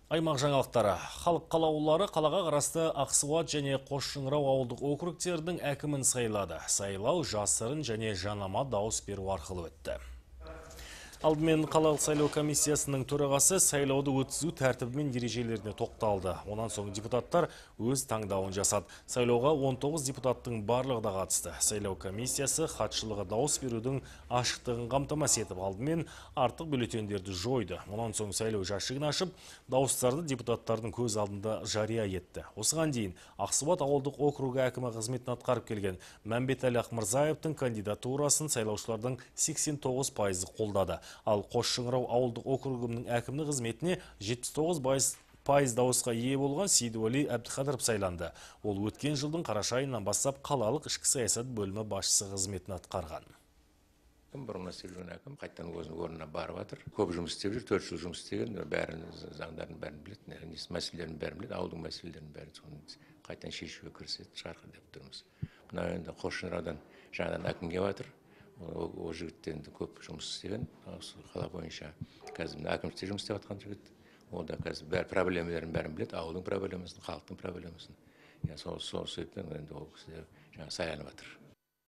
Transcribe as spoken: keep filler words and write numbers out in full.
Аймақ жаңалықтары. Халық қалаулылары қалаға қарасты Ақсуат және Қосшыңырау ауылдық округтердің әкімін сайлады. Сайлау жасырын және жанама дауыс беру арқылы өтті. Алдымен қалалық сайлау комиссиясының төрағасы сайлауды өткізу тәртібі мен ережелеріне тоқталды. Онан соң депутаттар өз таңдауын жасады. Сайлауға он тоғыз депутаттың барлығы да қатысты. Сайлау комиссиясы хатшылығы дауыс берудің ашықтығын қамтамасыз етіп, алдымен артық бюллетендерді жойды. Онан соң сайлау жәшігін ашып, дауыстарды депутаттардың көз алдында жария етті. Осыған дейін Ақсуат ауылдық округі әкімі қызметін атқарып келген Мәмбетәлі Ақмырзаевтың кандидатурасын сайлаушылардың сексен тоғыз пайызы қолдады. Ал Қосшыңырау ауылдық округінің әкімі қызметіне жетпіс тоғыз пайыз дауысқа ие болған Сейдуәли Әбдіқадыров сайланды. Ол өткен жылдың қараша айынан бастап қалалық ішкі саясат бөлімі басшысы қызметін атқарған. Бұрын істеп жүрген әкім қайтадан өзінің орнына барып жатыр. Көп жұмыс істеп жүр, төрт жыл жұмыс істеген, бәрін заңдарын бәрін біледі, мәселелерін бәрін біледі, ауылдың мәселелерін бәрін қайтадан шешуге кіріседі, шығарғы деп тұрмыз. Мына енді Қосшыңыраудан жаңадан әкім келіп жатыр. Ол жігіттен көп жұмыс істеген, қала бойынша қазір әкімшілікте жұмыс істеп жатқан жігіт. Ол да қазір бәр проблемаларын бәрін біледі, ауылдың проблемасын, халықтың проблемасын. Сол себептен енді ол кісі жаңа сайланып жатыр.